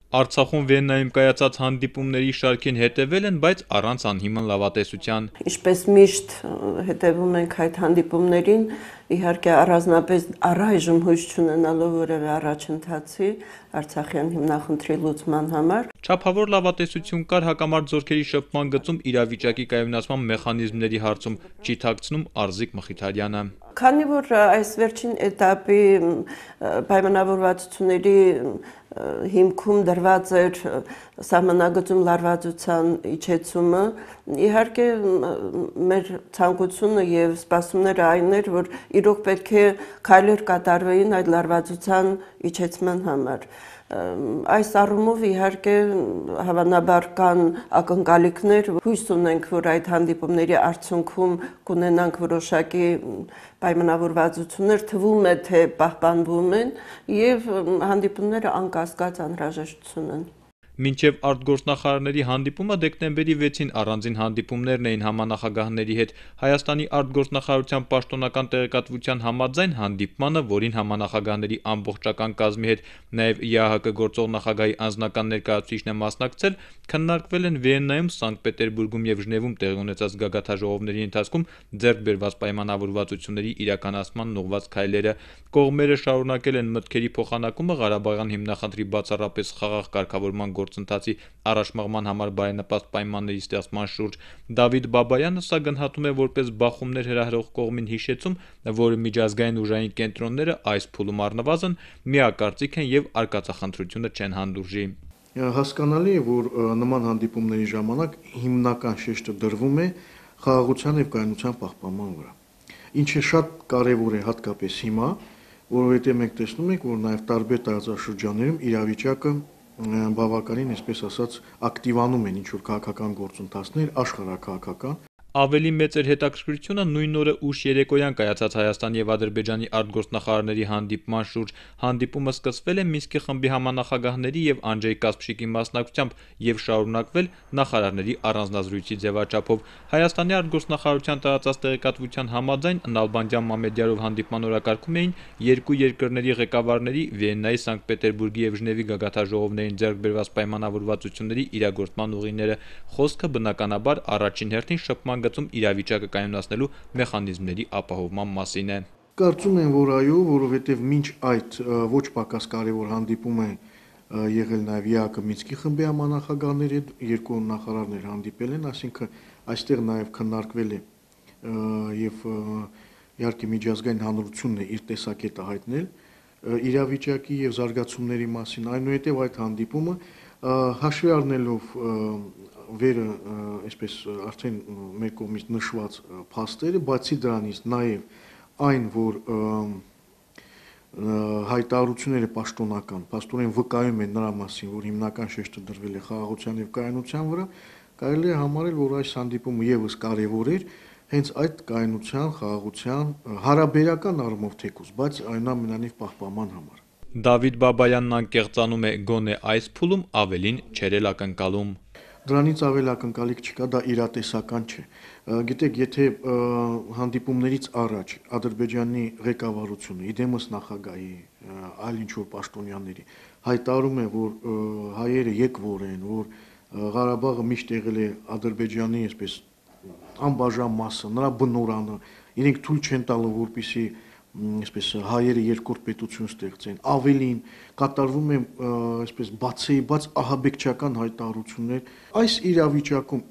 Արցախում Վիեննայում կայացած հանդիպումների շարքին հետևել են, բայց առանց անհիմն լավատեսության։ Ինչպես միշտ հետևում ենք այդ հանդիպումներին, իհարկե առանձնապես առայժմ հույս չունենալով որևէ առաջընթացի Արցախյան հիմնախնդրի լուծման համար։ Չափավոր լավատեսություն կար հակամարտ զորքերի շփման գծում իրավիճակի կայունացման մեխանիզմների հարցում, չի թաքցնում Արզիկ Մխիթարյանը։ Քանի որ այս վերջին էտապի պայմանավորվածությունների հիմքում դրված էր սահմանագծում լարվածության իջեցումը, իհարկե մեր ցանկությունը եւ սպասումները այն էր, որ իրոք պետք է քայլեր կատարվեին այդ լարվածության իջեցման համար։ Այս առումով իհարկե հավանաբար կան ակնկալիքներ, հույս ունենք, որ այդ հանդիպումների արդյունքում կունենանք որոշակի պայմանավորվածություններ, թվում է թե պահպանվում են եւ հանդիպումները անկասկած անհրաժեշտություն են։ Մինչև արտգործնախարարների հանդիպումը դեկտեմբերի 6-ին առանձին հանդիպումներն էին համանախագահների հետ։ Հայաստանի արտգործնախարարության պաշտոնական տեղեկատվության համաձայն հանդիպմանը, որին համանախագահների ամբողջական կազմի հետ նաև ԵԱՀԿ գործող նախագահի անձնական ներկայացուցիչն է մասնակցել, քննարկվել են Վիեննայում, Սանկտ Պետերբուրգում եւ Ժնևում տեղի ունեցած գագաթաժողովների ընթացքում ձեռք բերված պայմանավորվածությունների իրականացման ուղղված քայլերը։ Կողմերը շարունակել են մտքերի փոխանակումը Ղարաբաղյան հիմնախնդրի բացառապես խաղաղ կարգավորման գործընթացի առաջմաղման համար բարենպաստ պայմանների ստեղծման շուրջ։ Դավիթ Բաբայանը սա գնահատում է որպես բախումներ հրահրող կողմին հիշեցում, որ միջազգային ուժային կենտրոնները այս փուլում առնվազն միակարծիք են եւ արկածախնդրությունը չեն հանդուրժի։ Հասկանալի է, որ նման հանդիպումների ժամանակ հիմնական շեշտը դրվում է խաղաղության եւ կայունության պահպանման վրա, ինչը շատ կարեւոր է հատկապես հիմա, որովհետեւ մենք տեսնում ենք, որ նաեւ տարբեր տարածաշրջաններում իրավիճակը բավականին, այսպես ասած, ակտիվանում են ինչ-որ քաղաքական գործընթացներ, աշխարհաքաղաքական։ Ավելի մեծ էր հետաքրքրությունը նույն օրը ուշ երեկոյան կայացած Հայաստանի եւ Ադրբեջանի արտգործնախարարների հանդիպման շուրջ։ Հանդիպումը սկսվել է Մինսկի խմբի համանախագահների եւ Անջեյ Կասպշիկի մասնակցությամբ եւ շարունակվել նախարարների առանձնազրույցի ձևաչափով։ Հայաստանի արտգործնախարարության տարածած տեղեկատվության համաձայն Նալբանդյան Մամեդյարով հանդիպման օրակարգում էին երկու երկրների ղեկավարների Վիեննայի, Սանկտ Պետերբուրգի եւ Ժնևի գագաթաժողովներին ձեռք բերված պայմանավորվածությունների իրագործման ուղիները։ Խոսքը բնականաբար առաջին հերթին շփման գծում իրավիճակը կայունացնելու մեխանիզմների ապահովման մասին է։ Կարծում եմ, որ այո, որովհետև մինչ այդ ոչ պակաս կարևոր հանդիպում է եղել նաև ԵԱՀԿ Մինսկի խմբի համանախագահների հետ, երկու նախարարներ հանդիպել են, այսինքն այստեղ նաև քննարկվել է եւ իհարկե միջազգային հանրությունն է իր տեսակետը հայտնել իրավիճակի եւ զարգացումների մասին, այնուհետեւ այդ հանդիպումը հաշվի առնելով վերը այսպես արդեն մեր կողմից նշված փաստերը, բացի դրանից նաև այն, որ հայտարարությունները պաշտոնական, փաստորեն վկայում են նրա մասին, որ հիմնական շեշտը դրվել է խաղաղության եւ կայունության վրա, կարելի է համարել, որ այս հանդիպումը եւս կարեւոր էր հենց այդ կայունության, խաղաղության հարաբերական առումով թեկուզ, բայց այնուամենայնիվ պահպանման համար։ Դավիթ Բաբայանն անկեղծանում է, գոնե այս փուլում ավելին չէր էլ ակնկալում։ Դրանից ավել ակնկալիք չկա, դա իրատեսական չէ։ Գիտեք, եթե հանդիպումներից առաջ Ադրբեջանի ղեկավարությունը, իդեմս նախագահի, այլ ինչ-որ պաշտոնյաների հայտարարում է, որ հայերը եկվոր են, որ Ղարաբաղը միշտ եղել է Ադրբեջանի այսպես անբաժան մասը, նրա բնորանը, իրենք թույլ չեն տալու, որպեսզի այսպես հայերը երկրորդ պետություն ստեղծեն, ավելին կատարվում է այսպես բաց ահաբեկչական հայտարարություններ։ Այս իրավիճակում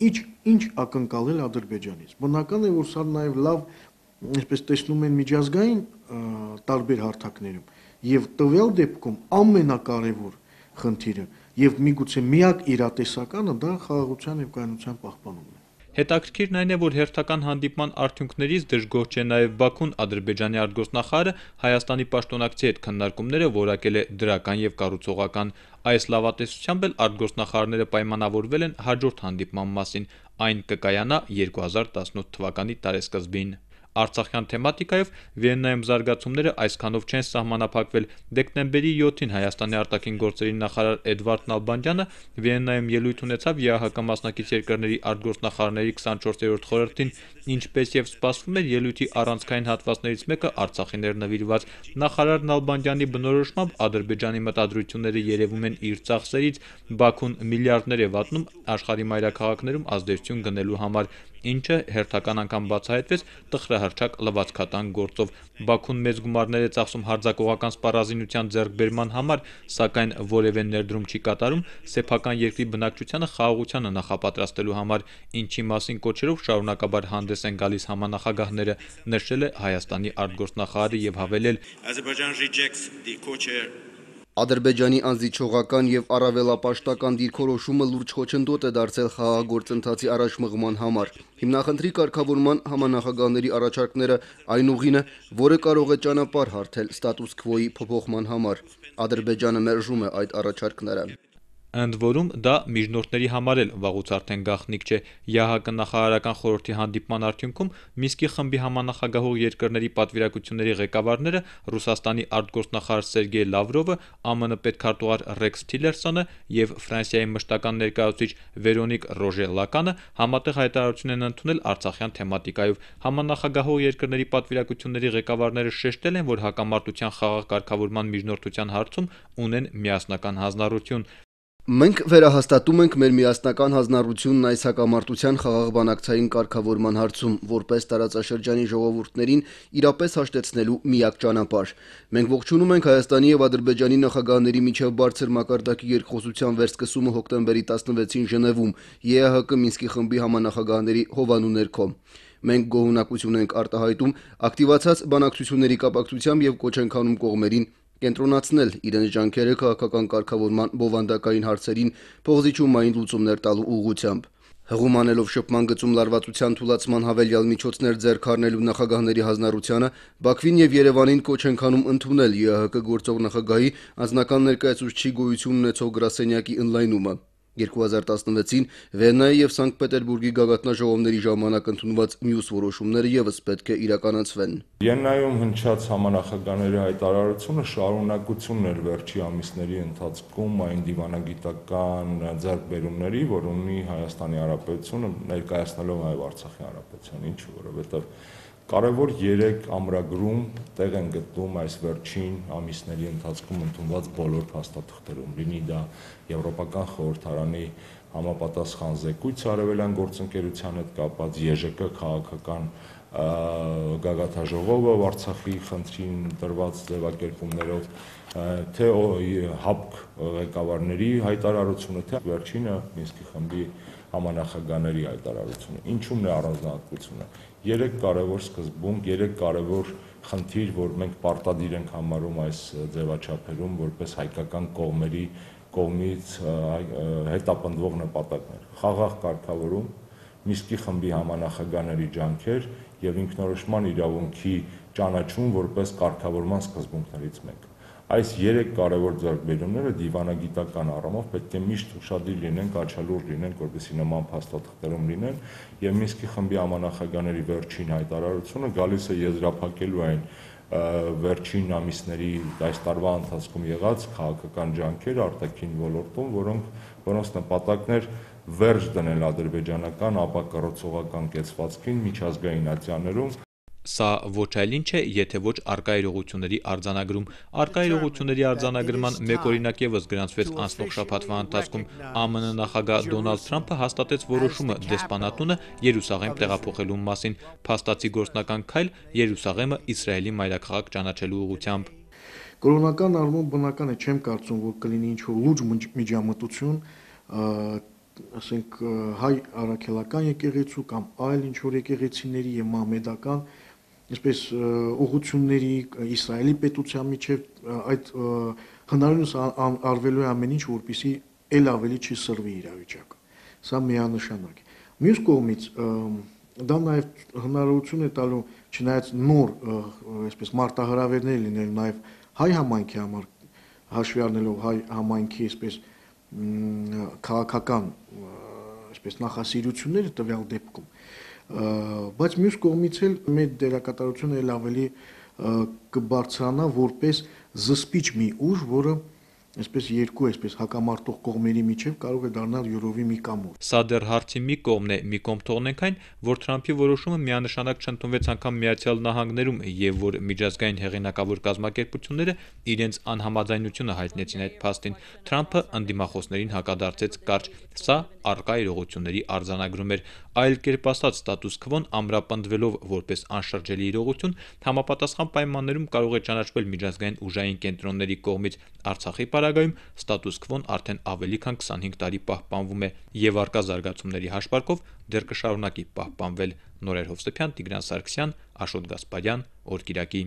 ինչ ակնկալել Ադրբեջանից։ Բնական է, որ սա նաև լավ այսպես տեսնում են միջազգային տարբեր հարթակներում եւ տվյալ դեպքում ամենակարևոր խնդիրը եւ միգուցե միակ իրատեսականը դա խաղաղության եւ կայունության պահպանումն է։ Հետաքրքիրն այն է, որ հերթական հանդիպման արդյունքներից դժգոհ չէ նաև Բաքուն։ Ադրբեջանի արտգործնախարարը Հայաստանի պաշտոնակցի հետ քննարկումները որակել է դրական եւ կառուցողական։ Այս լավատեսությամբ էլ արտգործնախարարները պայմանավորվել են հաջորդ հանդիպման մասին։ Այն կկայանա 2018 թվականի տարեսկզբին։ Արցախյան թեմատիկայով Վիեննայում զարգացումները այսքանով չեն սահմանափակվել։ Դեկտեմբերի 7-ին Հայաստանի արտաքին գործերի նախարար Էդվարդ Նալբանդյանը Վիեննայում ելույթ ունեցավ ԵԱՀԿ մասնակից երկրների արտգործնախարարների 24-րդ խորհրդին, ինչպես եւ սպասվում էր, ելույթի առանցքային հատվածներից մեկը Արցախին էր նվիրված։ Նախարար Նալբանդյանի բնորոշմամբ Ադրբեջանի մտադրությունները երևում են իր ծախսերից, Բաքուն միլիարդներ է վատնում աշխարհի մայրաքաղաքներում ազդեցություն գնելու համար, ինչը հերթական անգամ բացահայտվեց տխրահռչակ լվացքատան գործով։ Բաքուն մեծ գումարներ է ծախսում հարձակողական սպառազինության ձեռքբերման համար, սակայն որևէ ներդրում չի կատարում սեփական երկրի բնակչությանը խաղաղությանը նախապատրաստելու համար, ինչի մասին կոչերով շարունակաբար հանդես են գալիս համանախագահները, նշել է Հայաստանի արտգործնախարարը եւ հավելել. Ադրբեջանի անզիջողական եւ առավելապաշտական դիրքորոշումը լուրջ խոչընդոտ է դարձել խաղաղ գործընթացի առաջմղման համար։ Հիմնախնդրի կարգավորման համանախագահների առաջարկները այն ուղին է, որը կարող է ճանապարհ հարթել ստատուս քվոյի փոփոխման համար։ Ադրբեջանը մերժում է այդ առաջարկները։ Ընդ որում դա միջնորդների համար էլ վաղուց արդեն գաղտնիք չէ։ ԵԱՀԿ նախարարական խորհրդի հանդիպման արդյունքում Մինսկի խմբի համանախագահող երկրների պատվիրակությունների ղեկավարները Ռուսաստանի արտգործնախարար Սերգեյ Լավրովը, ԱՄՆ պետքարտուղար Ռեքս Թիլերսոնը եւ Ֆրանսիայի մշտական ներկայացուցիչ Վերոնիկ Ռոժե Լականը համատեղ հայտարարություն են ընդունել Արցախյան թեմատիկայով։ Համանախագահող երկրների պատվիրակությունների ղեկավարները շեշտել են, որ հակամարտության խաղաղ կարգավորման միջնորդության հարցում ունեն միասնական հանձնառություն։ Մենք վերահաստատում ենք մեր միասնական հանձնառությունն այս հակամարտության խաղաղ բանակցային կարգավորման հարցում, որպես տարածաշրջանի ժողովուրդներին իրապես հաշտեցնելու միակ ճանապարհ։ Մենք ողջունում ենք Հայաստանի եւ Ադրբեջանի նախագահների միջև բարձր մակարդակի երկխոսության վերսկսումը հոկտեմբերի 16-ին Ժնևում, ԵԱՀԿ Մինսկի խմբի համանախագահների հովանու ներքո։ Մենք գոհունակություն ենք արտահայտում ակտիվացած բանակցությունների կապակցությամբ եւ կոչ ենք անում կողմերին կենտրոնացնել իրենց ջանքերը քաղաքական կարգավորման բովանդակային հարցերին փոխզիջումային լուծումներ տալու ուղղությամբ։ Հղում անելով շփման գծում լարվածության թուլացման հավելյալ միջոցներ ձեռք առնելու նախագահների հանձնառությանը, Բաքվին եւ Երևանին կոչ ենք անում ընդունել ԵԱՀԿ գործող նախագահի անձնական ներկայացուցչի գոյություն ունեցող գրասենյակի ընդլայնումը։ 2016-ին Վիեննայի եւ Սանկտ Պետերբուրգի գագաթնաժողովների ժամանակ ընդունված մյուս որոշումները եւս պետք է իրականացվեն։ Վիեննայում հնչած համանախագահների հայտարարությունը շարունակությունն էր վերջի ամիսների ընթացքում այն դիվանագիտական ձեռքբերումների, որ ունի Հայաստանի Հանրապետությունը ներկայացնելով նաեւ Արցախի Հանրապետության, ինչու, որովհետեւ կարևոր 3 ամրագրում տեղ են գտնում այս վերջին ամիսների ընթացքում ընդունված բոլոր փաստաթղթերում, լինի դա Եվրոպական խորհրդարանի համապատասխան զեկույցը արևելյան գործընկերության հետ կապված, ԵԺԿ քաղաքական գագաթնաժողովը Արցախի խնդրին տրված ձևակերպումներով, թե ՀԱՊԿ ղեկավարների հայտարարությունը, թե վերջինը Մինսկի խմբի համանախագահների հայտարարությունը։ Ինչու՞մն է առանձնահատկությունը։ 3 կարևոր սկզբունք, 3 կարևոր խնդիր, որ մենք պարտադիր ենք համարում այս ձևաչափերում որպես հայկական կողմերի կողմից հետապնդվող նպատակներ։ Խաղաղ կարգավորում, Մինսկի խմբի համանախագահների ջանքեր եւ ինքնորոշման իրավունքի ճանաչում որպես կարգավորման սկզբունքներից մեկը։ Այս 3 կարևոր ձեռքբերումները դիվանագիտական առումով պետք է միշտ ուշադիր լինենք, աչալուր լինենք, որպեսզի նման փաստաթղթերում լինեն, եւ Մինսկի խմբի համանախագահների վերջին հայտարարությունը գալիս է եզրափակելու այն վերջին ամիսների այս տարվա ընթացքում եղած քաղաքական ջանքերը արտաքին ոլորտում, որոնց նպատակն էր վերջ դնել ադրբեջանական ապակառուցողական կեցվածքին միջազգային ատյաններում։ Սա ոչ այլ ինչ է, եթե ոչ առկա իրողությունների արձանագրում։ Առկա իրողությունների արձանագրման մեկ օրինակ եւս գրանցվեց անցնող շաբաթվա ընթացքում։ ԱՄՆ նախագահ Դոնալդ Թրամփը հաստատեց որոշումը դեսպանատունը Երուսաղեմ տեղափոխելու մասին, փաստացի գործնական քայլ Երուսաղեմը Իսրայելի մայրաքաղաք ճանաչելու ուղղությամբ։ Կրոնական առումով բնական է, չեմ կարծում, որ կլինի ինչ-որ լուրջ միջամտություն, ասենք հայ առաքելական եկեղեցու կամ այլ ինչ-որ եկեղեցիների եւ մահմեդական այսպես ուղղությունների Իսրայելի պետության միջև այդ հնարավորինս արվելու է ամեն ինչ, որպեսզի ել ավելի չի սրվի իրավիճակը։ Սա միանշանակ է։ Մյուս կողմից դա նաև հնարավորություն է տալու չնայած նոր այսպես մարտահրավերներ լինել նաև հայ համայնքի համար, հաշվի առնելով հայ համայնքի այսպես քաղաքական այսպես նախասիրությունները տվյալ դեպքում բայց մյուս կողմից էլ մեր դերակատարությունը էլ ավելի կբարձրանա որպես զսպիչ մի ուժ, որը այսպես երկու հակամարտող կողմերի միջև կարող է դառնալ յուրովի մի կամուր։ Սա դեռ հարցի մի կողմն է, մի կողմ թողնենք այն, որ Թրամփի որոշումը միանշանակ չընդունվեց անգամ Միացյալ Նահանգներում եւ որ միջազգային հեղինակավոր կազմակերպությունները իրենց անհամաձայնությունը հայտնեցին այդ փաստին։ Թրամփը ընդդիմախոսներին հակադարձեց կարճ. սա առկա իրողությունների արձանագրում էր, այլ կերպ ասած ստատուս քվոն ամրապնդվելով որպես անշրջելի իրողություն համապատասխան պայմաններում կարող է ճանաչվել միջազգային ուժային կենտրոնների կողմից։ Արցախի պարագայում ստատուս քվոն արդեն ավելի քան 25 տարի պահպանվում է եւ առկա զարգացումների հաշվարկով դեռ կշարունակի պահպանվել։ Նորեր Հովսեփյան, Տիգրան Սարգսյան, Աշոտ Գասպարյան, Օրկիրակի։